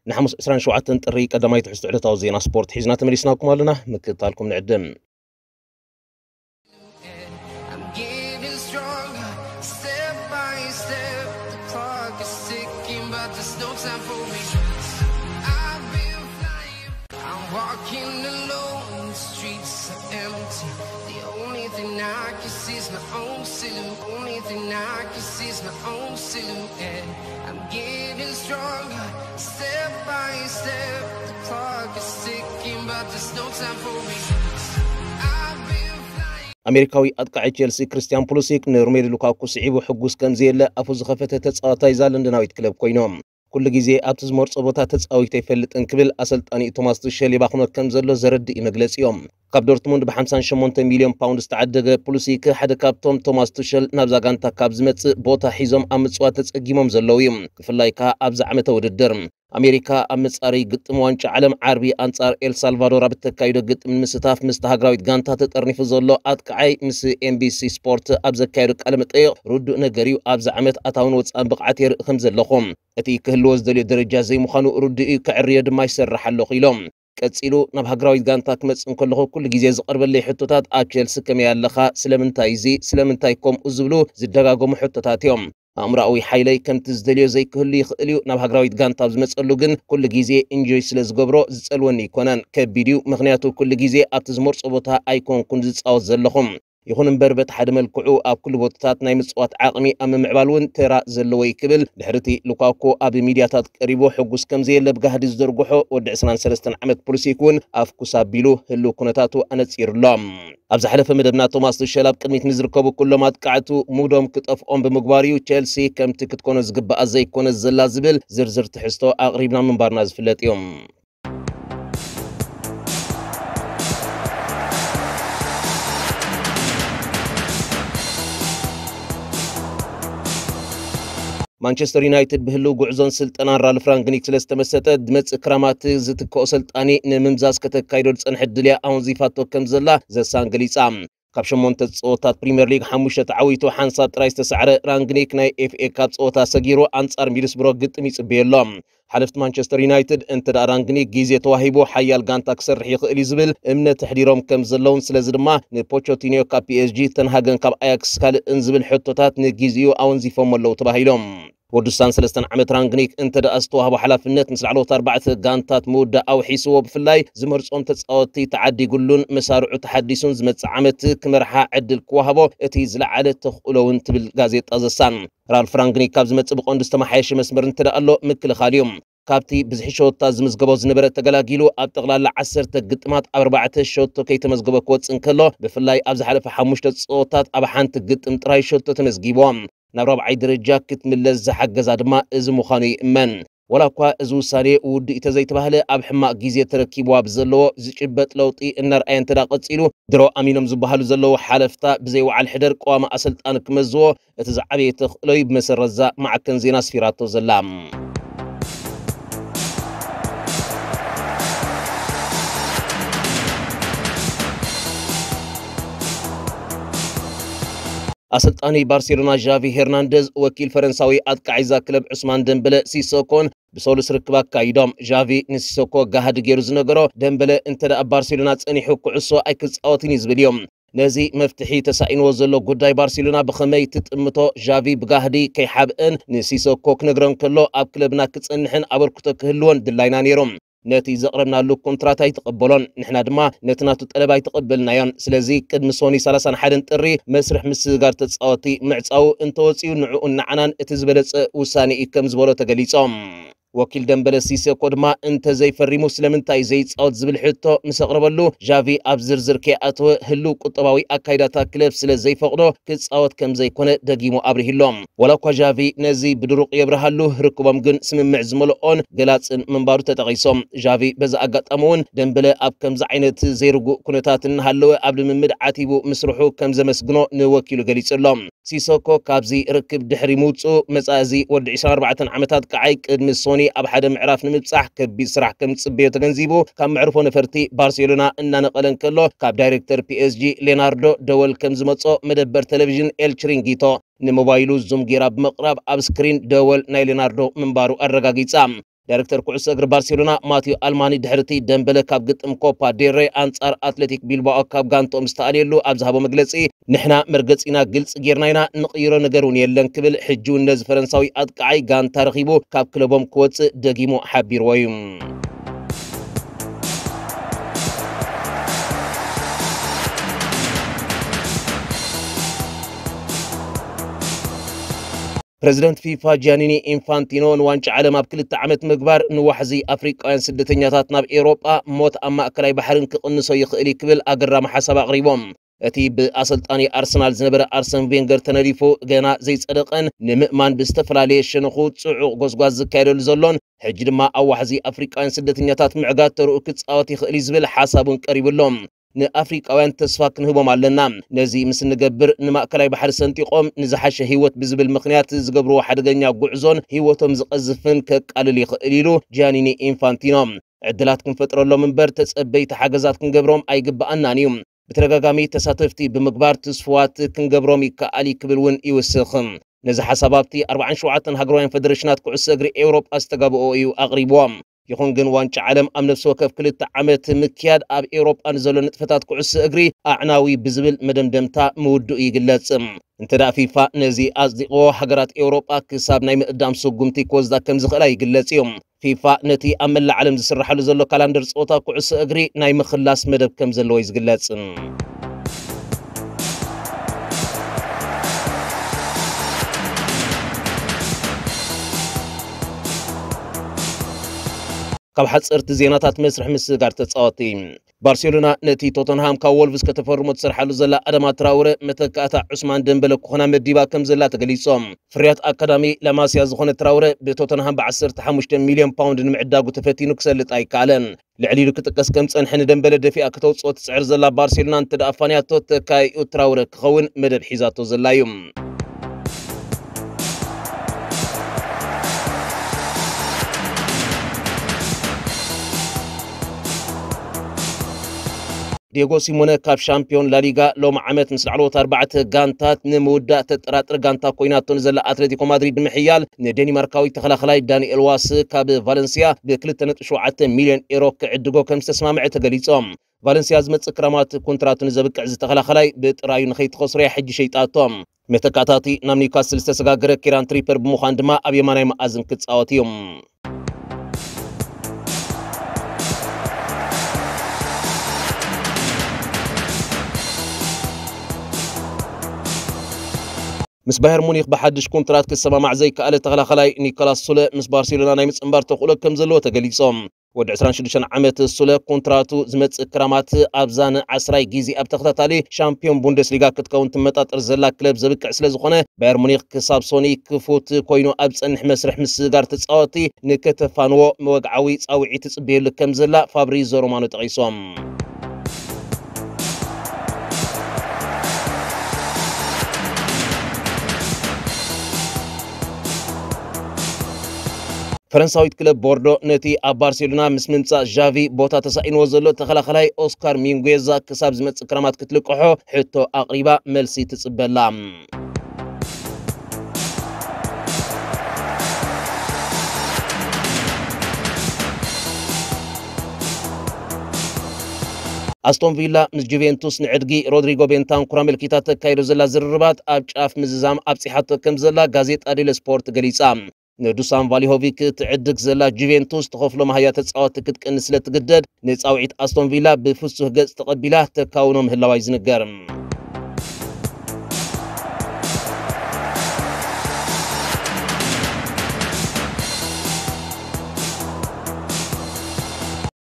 ንሓሙስ ዕስራን ሸውዓተን ጥሪ ቀዳማይ ትሕዝቶ ዕለታዊ ዜና ስፖርት ሒዝና ተመሊስናኩም ኣለና። ምክትታልኩም ንዕድም። I'm getting stronger, step by step. The clock is ticking, but there's no time for me. I've been flying, I'm walking alone, the streets are empty. The only thing I can see is my own silhouette. Only thing I can see is my own silhouette. I'm getting stronger, step by step. The clock is ticking, but there's no time for me. I've been flying. ኣሜሪካዊ ኣጥቃዒ ቼልሲ ክርስቲያን ፑሊሲክ ንሮሜሉ ሉካኩ ስዒቡ ሕጉስ ከም ዘየለ ኣፉ ዝኸፈተ ተጻዋታይ እዛ ለንደናዊት ክለብ ኮይኖም። ኩሉ ግዜ ኣብቲ ዝመርጾ ቦታ ተጻዊተ ኣይፈልጥን ክብል ኣሰልጣኒ ቶማስ ቱሸል ይባኽኖ ከም ዘሎ ዘረድእ እዩ መግለጺኦም። ካብ ዶርትሙንድ ብ58 ሚልዮን ፓውንድ ዝተዓደገ ፑሊሲክ ሓደ ካብቶም ቶማስ ቱሸል ናብዛ ጋንታ ካብ ዝመጽእ ቦታ ሒዞም ኣብ ምጽዋት ተጸጊሞም ዘለዉ እዩ። ብፍላይ ከኣ ኣብዚ ዓመተ ውድድር ኣሜሪካ ኣብ መጻረዪ ግጥም ዋንጫ ዓለም ዓርቢ ኣንጻር ኤል ሳልቫዶር ኣብ እተካይዶ ግጥም ንምስታፍ ምስቲ ሃገራዊት ጋንታ ተጠርኒፉ ዘሎ ኣጥቃዓይ ምስ ኤንቢሲ ስፖርት ኣብ ዘካየዶ ቃለ መጠይቕ ርዱእ ነገር እዩ። ኣብዚ ዓመት ኣታውን ወጻእን ብቕዓት የርኢ ከም ዘለኹ፣ እቲ ክህልዎ ዝደልዮ ደረጃ ዘይምዃኑ ርዱእ እዩ፣ ከዕርዮ ድማ ይሰርሕ ኣለኹ ኢሎም። ቀጺሉ ናብ ሃገራዊት ጋንታ ክመጽእ እንከለኹ ኩሉ ግዜ ዝቐርበለይ ሕቶታት ኣብ ቸልሲ ከመይ ኣለኻ፣ ስለምንታይ እዚ፣ ስለምንታይ ከምኡ ዝብሉ ዝደጋገሙ ሕቶታት እዮም። ኣእምሮኣዊ ሓይለይ ከምቲ ዝደልዮ ዘይክህሉ ይኽእል እዩ። ናብ ሃገራዊት ጋንታ ኣብ ዝመጸሉ ግን ኩሉ ግዜ ኢንጆይ ስለ ዝገብሮ ዝጸልወኒ ኣይኮነን። ከቢድ እዩ፣ ምኽንያቱ ኩሉ ግዜ ኣብቲ ዝመርጾ ቦታ ኣይኮንኩን ዝጻወት ዘለኹ። ይኹን እምበር በቲ ሓደ መልክዑ ኣብ ኩሉ ቦታታት ናይ ምጽዋት ዓቕሚ ኣብ ምምዕባል እውን ተራ ዘለዎ እዩ ክብል ድሕሪ እቲ ሉካኮ ኣብ ሚድያታት ቀሪቡ ሕጉስ ከም ዘየለ ብጋህዲ ዝዘርግሖ ወዲ ዕስራን ሰለስተን ዓመት ፑሊሲክ እውን ኣፍኩስ ኣቢሉ ህልው ኩነታቱ ኣነጺሩ ኣሎ። ኣብ ዝሓለፈ መደብና ቶማስ ቱሸል ኣብ ቅድሚት ንዝርከቡ ኩሎም ኣጥቃዕቱ ሙዶም ክጠፍኦም ብምግባር እዩ ቸልሲ ከምቲ ክትኮኖ ዝግባኣ ዘይኮነ ዘላ ዝብል ዝርዝር ትሕዝቶ ኣቕሪብና ምንባርና ዝፍለጥ እዩ። ማንቸስተር ዩናይትድ ብህልው ጉዕዞን ስልጠናን ራልፍ ራንግኒክ ስለ ዝተመሰጠ፣ ዝመጽእ ክራማት ዝትክኦ ሰልጣኒ ንምምዛዝ ከተካይዶ ዝጸንሐት ድልያ ኣወንዚፋቶ ከም ዘላ ዘሳን ገሊጻ። ካብ ሸሞንተ ጸወታት ፕሪምየር ሊግ ሓሙሽተ ተዓዊቱ ሓንሳብ ጥራይ ዝተሳዕረ ራንግኒክ፣ ናይ ኤፍኤ ካፕ ጸወታ ሰጊሩ ኣንጻር ሚድስብሮ ግጥም ይጽበዮ ኣሎ። ሓለፍቲ ማንቸስተር ዩናይትድ እንተ ደኣ ራንግኒክ ግዜ ተዋሂቡ ሓያል ጋንታ ክሰርሕ ይኽእል እዩ ዝብል እምነት ኣሕዲሮም ከም ዘለውን፣ ስለዚ ድማ ንፖቾቲኒዮ ካብ ፒኤስጂ፣ ተንሃገን ካብ ኣያክስ ካልእን ዝብል ሕቶታት ንግዜኡ ኣወንዚፎም ኣለዉ ተባሂሎም። ወዲ ስሳን ሰለስተን ዓመት ራንግኒክ እንተ ደኣ ዝተዋህቦ ሓላፍነት ምስ ላዕለዎት ኣርባዕተ ጋንታት ምውዳእ ኣውሒስዎ፣ ብፍላይ ዝመርጾም ተጻወትቲ ተዓዲጉሉን መሳርዑ ተሓዲሱን ዝመጽእ ዓመት ክመርሓ ዕድል ክወሃቦ እቲ ዝለዓለ ተኽእሎ እውን ትብል ጋዜጣ ዘሳን። ራልፍ ራንግኒክ ካብ ዝመጽእ ብቐንዱ ዝተመሓየሸ መስመር እንተ ደኣ ኣሎ ምክልኻል እዩ። ካብቲ ብዝሒ ሸቶታት ዝምዝገቦ ዝነበረ ተገላጊሉ ኣብ ጠቕላላ ዓሰርተ ግጥማት ኣብ ኣርባዕተ ሸቶ ከይተመዝገበ ክወጽእ እንከሎ፣ ብፍላይ ኣብ ዝሓለፈ ሓሙሽተ ጸወታት ኣብ ሓንቲ ግጥም ጥራይ ሸቶ ተመዝጊቡ። ናብ ራብዓይ ደረጃ ክትምለስ ዝሓገዛ ድማ እዚ ምዃኑ ይእመን። ዋላ እኳ እዚ ውሳኔ ውዱእ እዩ ተዘይተባህለ፣ ኣብ ሕማቕ ግዜ ተረኪብዋ ብዘለዎ ዝጭበጥ ለውጢ እናርኣየ እንተ ደኣ ቀጺሉ፣ ድሮ ኣሚኖም ዝበሃሉ ዘለዉ ሓለፍታ ብዘይ ወዓል ሕደር ቀዋሚ ኣሰልጣኒ ክመዝዎ እቲ ዝዓበየ ተኽእሎ እዩ ብመሰረት'ዛ ማዕከን ዜና ኣስፊራቶ ዘላ። ኣሰልጣኒ ባርሴሎና ዣቪ ሄርናንደዝ ወኪል ፈረንሳዊ ኣጥቃዒ እዛ ክለብ ዑስማን ደምበለ ሲሶኮን ብሰሉስ ርክብ ኣካይዶም። ዣቪ ንሲሶኮ ጋህዲ ገይሩ ዝነገሮ፣ ደምበለ እንተ ደኣ ባርሴሎና ጸኒሑ ኩዕሶ ኣይክጻወትን እዩ ዝብል እዩ። ነዚ መፍትሒ ተሳኢንዎ ዘሎ ጉዳይ ባርሴሎና ብኸመይ ትጥምቶ ዣቪ ብጋህዲ ከይሓብእን ንሲሶኮ ክነግረን ከሎ ኣብ ክለብና ክጸንሕን ኣበርክቶ ክህልዎን ድላይና ነይሩ። ነቲ ዘቕረብናሉ ኮንትራት ኣይተቐበሎን፣ ንሕና ድማ ነቲ ናቱ ጠለብ ኣይተቐበልናዮን። ስለዚ ቅድሚ ሶኒ ሰላሳን ሓደን ጥሪ መስርሕ ምስግጋር ተጻወቲ ምዕጻዉ እንተወጺኡ ንዕኡን ንዓናን እቲ ዝበለጸ ውሳኔ እዩ ከም ዝበሎ ተገሊጾም። ወኪል ደምበለ ሲሰኮ ድማ እንተ ዘይፈሪሙ ስለምንታይ ዘይጻወት ዝብል ሕቶ ምስ ኣቕረበሉ፣ ዣቪ ኣብ ዝርዝር ከይኣተወ ህሉው ቁጠባዊ ኣካይዳታ ክለብ ስለ ዘይፈቕዶ ክጻወት ከም ዘይኮነ ደጊሙ ኣብሪህሎም። ዋላ እኳ ዣቪ ነዚ ብድሩቕ የብርሃሉ፣ ርክቦም ግን ስምምዕ ዝመልኦን ገላጽን ምንባሩ ተጠቒሶም። ዣቪ በዚ ኣጋጣሚ እውን ደምበለ ኣብ ከምዚ ዓይነት ዘይርጉእ ኩነታት እናሃለወ ኣብ ልምምድ ዓቲቡ ምስርሑ ከም ዘመስግኖ ንወኪሉ ገሊጹ ኣሎ። ሲሶኮ ካብዚ ርክብ ድሕሪ ምውጽኡ፣ መጻኢ እዚ ወዲ ዕስራን ኣርባዕተን ዓመት ኣጥቃዓይ ቅድሚ ሶኒ ኣብ ሓደ ምዕራፍ ንምብጻሕ ከቢድ ስራሕ ከም ዝጽበዮ ተገንዚቡ፣ ካብ መዕርፎ ነፈርቲ ባርሴሎና እናነቐለ እንከሎ፣ ካብ ዳይሬክተር ፒኤስጂ ሌናርዶ ደወል ከም ዝመጾ መደበር ቴሌቪዥን ኤል ቺሪንጊቶ ንሞባይሉ ዙም ጌራ ብምቕራብ ኣብ ስክሪን ደወል ናይ ሌናርዶ ምንባሩ ኣረጋጊጻ። ዳይሬክተር ኩዕሶ እግሪ ባርሴሎና ማቲዮ ኣልማኒ ድሕርቲ ደምበለ ካብ ግጥም ኮፓ ዴል ሬ ኣንጻር ኣትሌቲክ ቢልባኦ ካብ ጋንትኦም ዝተኣልየሉ ኣብ ዝሃቦ መግለጺ፣ "ንሕና መርገጺና ግልጺ ጌርና ኢና፣ ንቕይሮ ነገር እውን የለን" ክብል፣ ሕጂ እውን ነዚ ፈረንሳዊ ኣጥቃዓይ ጋንታ ረኺቡ ካብ ክለቦም ክወጽእ ደጊሙ ሓቢርዎ እዩ። ፕረዚደንት ፊፋ ጂያኒኒ ኢንፋንቲኖ፣ ንዋንጫ ዓለም ኣብ ክልተ ዓመት ምግባር ንዋሕዚ ኣፍሪቃውያን ስደተኛታት ናብ ኤውሮጳ፣ ሞት ኣብ ማእከላይ ባሕርን ክቕንሶ ይኽእል እዩ ክብል ኣገራሚ ሓሳብ ኣቕሪቦም። እቲ ብኣሰልጣኒ ኣርሰናል ዝነበረ ኣርሰን ቬንገር ተነዲፉ ገና ዘይጸደቐን ንምእማን ብዝተፈላለየ ሸነኹ ጽዑቕ ጎስጓስ ዝካየደሉ ዘሎን፣ ሕጂ ድማ ኣብ ዋሕዚ ኣፍሪቃውያን ስደተኛታት ምዕጋት ተርኡ ክጻወት ይኽእል እዩ ዝብል ሓሳብ እውን ቀሪቡ ኣሎ። "ንኣፍሪቃውያን ተስፋ ክንህቦም ኣለና። ነዚ ምስ እንገብር፣ ንማእከላይ ባሕሪ ሰንጢቖም ንዝሓሸ ህይወት ብዝብል ምኽንያት ዝገብርዎ ሓደገኛ ጉዕዞን ህይወቶም ዝቐዝፍን ከቃልል ይኽእል" ኢሉ ጂያኒኒ ኢንፋንቲኖ። "ዕድላት ክንፈጥረሎም እምበር ተጸበይቲ ሓገዛት ክንገብሮም ኣይግብኣናን እዩ። ብተደጋጋሚ ተሳተፍቲ ብምግባር ትስፉዋት ክንገብሮም ይከኣል እዩ" ክብል እውን ይውስኽ። ነዚ ሓሳብ ኣብቲ ኣርባዓን ሸውዓተን ሃገራውያን ፈደረሽናት ኩዕሶ እግሪ ኤውሮጳ ዝተጋብኦ እዩ ኣቕሪብዎ። ይኹን ግን ዋንጫ ዓለም ኣብ ነፍሲ ወከፍ ክልተ ዓመት ምክያድ ኣብ ኤውሮጳ ንዘሎ ንጥፈታት ኩዕሶ እግሪ ኣዕናዊ ብዝብል መደምደምታ ምውድኡ ይግለጽ። እንተ ደኣ ፊፋ ነዚ ኣጽዲቕዎ፣ ሃገራት ኤውሮጳ ክሳብ ናይ ምእዳም ስጉምቲ ክወስዳ ከም ዝኽእላ ይግለጽ እዩ። ፊፋ ነቲ ኣብ መላእ ዓለም ዝስራሓሉ ዘሎ ካላንደር ጸወታ ኩዕሶ እግሪ ናይ ምኽላስ መደብ ከም ዘለዎ እዩ ዝግለጽ። ካብ ሓጸርቲ ዜናታት መስርሕ ምስግጋር ተጻወቲ። ባርሴሎና ነቲ ቶተንሃም ካብ ወልቭስ ከተፈርሞ ትሰርሓሉ ዘላ ኣዳማ ትራውረ መተካእታ ዑስማን ደምበለ ክኾና መዲባ ከም ዘላ ተገሊጾም። ፍርያት ኣካዳሚ ላማሲያ ዝኾነ ትራውረ ብቶተንሃም ብ15 ሚልዮን ፓውንድ ንምዕዳጉ ተፈቲኑ ክሰልጥ ኣይከኣለን። ልዕል ኢሉ ክጥቀስ ከም ጸንሐ ንደምበለ ደፊኣ ክተውጽኦ ትጽዕር ዘላ ባርሴሎና እንተ ደኣ ፋንያቶ ተካይኡ ትራውረ ክኸውን መደብ ሒዛቶ ዘላ እዩ። ዲየጎ ሲሞነ ካብ ሻምፒዮን ላሊጋ ሎም ዓመት ምስ ላዕለዎት ኣርባዕተ ጋንታት ንምውዳእ ተጠራጥር ጋንታ ኮይናቶ ንዘላ ኣትሌቲኮ ማድሪድ ምሕያል ንዴኒማርካዊ ተኸላኸላይ ዳንኤል ዋስ ካብ ቫለንሲያ ብ2.7 ሚልዮን ኤሮ ክዕድጎ ከም ዝተስማምዐ ተገሊጾም። ቫለንሲያ ዝመጽእ ክረማት ኮንትራቱ ንዘብቅዕ ዝተኸላኸላይ ብጥራዩ ንኸይትኸስሮያ ሕጂ ሸይጣቶ። መተካታቲ ናብ ኒውካስል ዝተሰጋገረ ኪራን ትሪፐር ብምዃን ድማ ኣብ የማናይ መኣዝን ክጻወት እዩ። ምስ ባየር ሙኒክ ብሓድሽ ኮንትራት ክሰማማዕ ዘይከኣለ ተኸላኸላይ ኒኮላስ ሱለ ምስ ባርሴሎና ናይ ምጽንባር ተኽእሎ ከም ዘለዎ ተገሊጾም። ወዲ 26 ዓመት ሱለ ኮንትራቱ ዝመጽእ ክራማት ኣብዛ ንዓስራይ ግዜ ኣብ ተኸታታሊ ሻምፒዮን ቡንደስሊጋ ክትከውን ትመጣጠር ዘላ ክለብ ዘብቅዕ ስለ ዝኾነ፣ ባየር ሙኒክ ክሳብ ሶኒ ክፉት ኮይኑ ኣብ ጸንሕ መስርሕ ምስጋር ተጻወቲ ንከተፋንዎ መወግዓዊ ጻውዒት ትጽበየሉ ከም ዘላ ፋብሪዞ ሮማኖ ጠቒሶም። ፈረንሳዊት ክለብ ቦርዶ ነቲ ኣብ ባርሴሎና ምስ ምምጻእ ዣቪ ቦታ ተሳኢንዎ ዘሎ ተኸላኸላይ ኦስካር ሚንጉዌዛ ክሳብ ዝመጽእ ክረማት ክትልቅሖ ሕቶ ኣቕሪባ፣ መልሲ ትጽበላ። ኣስቶን ቪላ ምስ ጁቬንቱስ ንዕድጊ ሮድሪጎ ቤንታንኩር ኣመልኪታ ተካይዶ ዘላ ዝርርባት ኣብ ጫፍ ምዝዛም ኣብጺሓቶ ከም ዘላ ጋዜጣ ዴለ ስፖርት ገሊጻ። ንዱሳን ቫሊሆቪክ ትዕድግ ዘላ ጁቬንቱስ ትኸፍሎ መሃያ ተጻወቲ ክትቀንስ ስለ ትግደድ፣ ንጻውዒት ኣስቶን ቪላ ብፍሱህ ገጽ ተቐቢላ ተካውኖ ምህላዋ እዩ ዝንገር።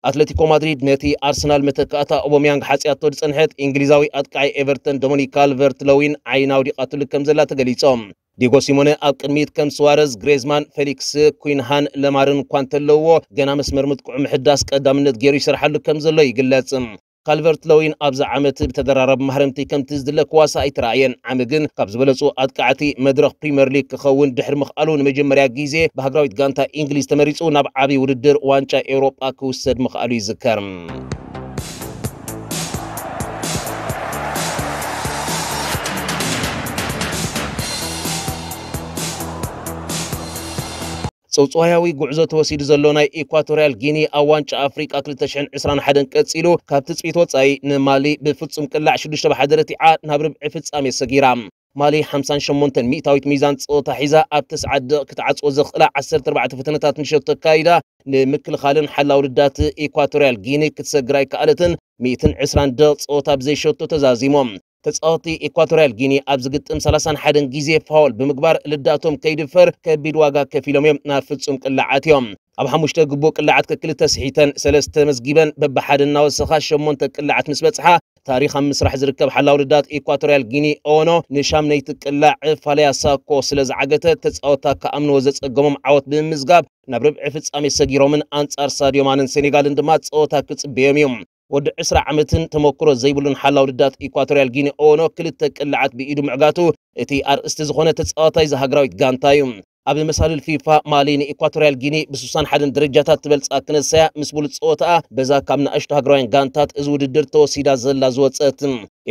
ኣትሌቲኮ ማድሪድ ነቲ ኣርሰናል መተካእታ ኦቦሚያንግ ሓጽያቶ ዝጸንሐት እንግሊዛዊ ኣጥቃዒ ኤቨርተን ዶሚኒክ ካልቨርት ለዊን ዓይና ኣውዲቓትሉ ከም ዘላ ተገሊጾም። ዲጎ ሲሞነ ኣብ ቅድሚት ከም ስዋረዝ፣ ግሬዝማን፣ ፌሊክስ፣ ኩንሃን፣ ለማርን እኳ እንተለውዎ፣ ገና መስመር ምጥቅዑ ምሕዳስ ቀዳምነት ገይሩ ይሰርሓሉ ከም ዘሎ ይግለጽ። ካልቨርት ለዊን ኣብዚ ዓመት ብተደራራቢ ማህረምቲ ከምቲ ዝድለ ክዋሳ ኣይተራእየን። ዓሚ ግን ካብ ዝበለጹ ኣጥቃዕቲ መድረኽ ፕሪምየር ሊግ ክኸውን ድሕሪ ምኽኣሉ፣ ንመጀመርያ ግዜ ብሃገራዊት ጋንታ እንግሊዝ ተመሪጹ ናብ ዓቢ ውድድር ዋንጫ ኤውሮጳ ክውሰድ ምኽኣሉ ይዝከር። ጽውጽዋያዊ ጉዕዞ ተወሲዱ ዘሎ ናይ ኢኳቶርያል ጊኒ ኣብ ዋንጫ ኣፍሪቃ ክልተ ሽሕን ዕስራን ሓደን ቀጺሉ፣ ካብ ትጽቢት ወጻኢ ንማሊ ብፍጹም ቅላዕ ሽዱሽተ ብሓደ ረቲዓ ናብ ርብዒ ፍጻሜ ሰጊራ። ማሊ ሓምሳን ሸሞንተን ሚእታዊት ሚዛን ጸወታ ሒዛ ኣብ ተስዓት ደቂቕ ክትዓጽዎ ዘኽእላ ዓሰርተ ኣርባዕተ ፈተነታት ንሸቶ ኣካይዳ፣ ንምክልኻልን ሓላው ውድዳት ኢኳቶርያል ጊኒ ክትሰግር ኣይከኣለትን። ሚእትን ዕስራን ደቂቕ ጸወታ ብዘይ ሸቶ ተዛዚሞም። ተጻወቲ ኢኳቶርያል ጊኒ ኣብ ዝግጥም ሰላሳን ሓደን ግዜ ፋውል ብምግባር ልዳቶም ከይድፈር ከቢድ ዋጋ ከፊሎም እዮም ናብ ፍጹም ቅላዓት እዮም። ኣብ ሓሙሽተ ግቡእ ቅላዓት ከክልተ ስሒተን ሰለስተ መዝጊበን በብሓደ እናወሰኻ ሸሞንተ ቅላዓት ምስ በጽሓ፣ ታሪኽ ኣብ ምስራሕ ዝርከብ ሓላው ልዳት ኢኳቶርያል ጊኒ ኦኖ ንሻምነይቲ ቅላዕ ፋለያ ሳኮ ስለ ዝዓገተ፣ ተጻወታ ክኣምንዎ ዘጸገሞም ዓወት ብምምዝጋብ ናብ ርብዒ ፍጻሜ ሰጊሮምን ኣንጻር ሳድዮ ማንን ሴኔጋልን ድማ ጸወታ ክጽበዮም እዩ። ወዲ ዕስራ ዓመትን ተመክሮ ዘይብሉን ሓላው ልዳት ኢኳቶርያል ጊኒ ኦኖ ክልተ ቅላዓት ብኢዱ ምዕጋቱ እቲ ኣርእስቲ ዝኾነ ተጻዋታይ ዝሃገራዊት ጋንታ እዩ። ኣብ መሳልል ፊፋ ማሊ ንኢኳቶርያል ጊኒ ብስሳን ሓደን ደረጃታት ትበልጻ ክነሳያ ምስ ብሉጽ ጸወታኣ በዛ ካብ ንኣሽቱ ሃገራውያን ጋንታት እዚ ውድድር ተወሲዳ ዘላ ዝወጸት።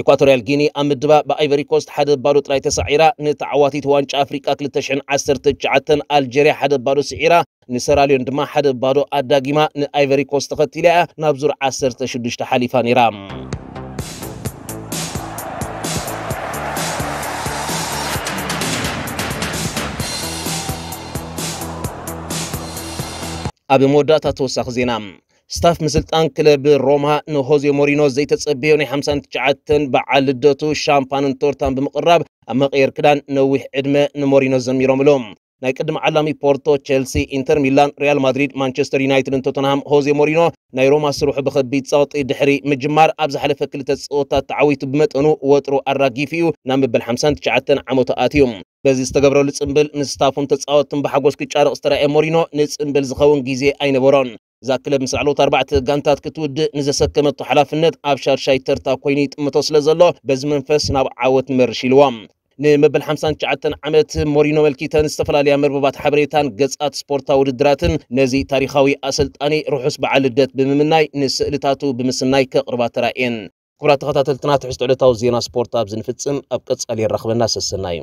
ኢኳቶርያል ጊኒ ኣብ ምድባ ብኣይቨሪ ኮስት ሓደ ባዶ ጥራይ ተሳዒራ፣ ንተዓዋቲት ዋንጫ ኣፍሪቃ ክልተ ሽሕን ዓሰርተ ትሽዓተን ኣልጀርያ ሓደ ባዶ ስዒራ፣ ንሰራልዮን ድማ ሓደ ባዶ ኣዳጊማ ንኣይቨሪ ኮስት ተኸቲላ እያ ናብ ዙር ዓሰርተ ሽዱሽተ ሓሊፋ ነይራ። ኣብ መወዳእታ ተወሳኺ ዜና። ስታፍ ምስልጣን ክለብ ሮማ ንሆዜ ሞሪኖ ዘይተጸበዮ ናይ ሓምሳን ትሽዓተን በዓል ልደቱ ሻምፓንን ቶርታን ብምቕራብ ኣብ መቐየር ክዳን ነዊሕ ዕድመ ንሞሪኖ ዘሚሮምሉ። ናይ ቅድሚ ዓላሚ ፖርቶ፣ ቸልሲ፣ ኢንተር ሚላን፣ ሪያል ማድሪድ፣ ማንቸስተር ዩናይትድን ቶተንሃም ሆዜ ሞሪኖ ናይ ሮማ ስርሑ ብኸቢድ ጸቕጢ ድሕሪ ምጅማር ኣብ ዝሓለፈ ክልተ ጸወታት ተዓዊቱ ብመጠኑ ወጥሩ ኣራጊፉ እዩ ናብ መበል ሓምሳን ትሽዓተን ዓመቱ ኣትዩ። በዚ ዝተገብረሉ ጽምብል ምስ ስታፉን ተጻወትን ብሓጎስ ክጫረቕ ዝተራእየ ሞሪኖ ንጽምብል ዝኸውን ግዜ ኣይነበሮን። እዛ ክለብ ምስ ላዕለዎት ኣርባዕተ ጋንታት ክትውድእ ንዘሰከመቶ ሓላፍነት ኣብ ሻድሻይ ተርታ ኮይኑ ይጥምቶ ስለ ዘሎ በዚ መንፈስ ናብ ዓወት ንመርሽ ኢልዎ። ንመበል ሓምሳን ትሽዓተን ዓመት ሞሪኖ መልኪተን ዝተፈላለያ መርበባት ሓበሬታን ገጻት ስፖርታዊ ውድድራትን ነዚ ታሪኻዊ ኣሰልጣኒ ርሑስ በዓል ልደት ብምምናይ ንስእልታቱ ብምስናይ ከቕርባ ተራእየን። ክቡራት ተኸታተልትና ትሕዝቶ ዕለታዊ ዜና ስፖርት ኣብዚ ንፍጽም። ኣብ ቀጻሊ የራኽበና። ሰሰናዩ።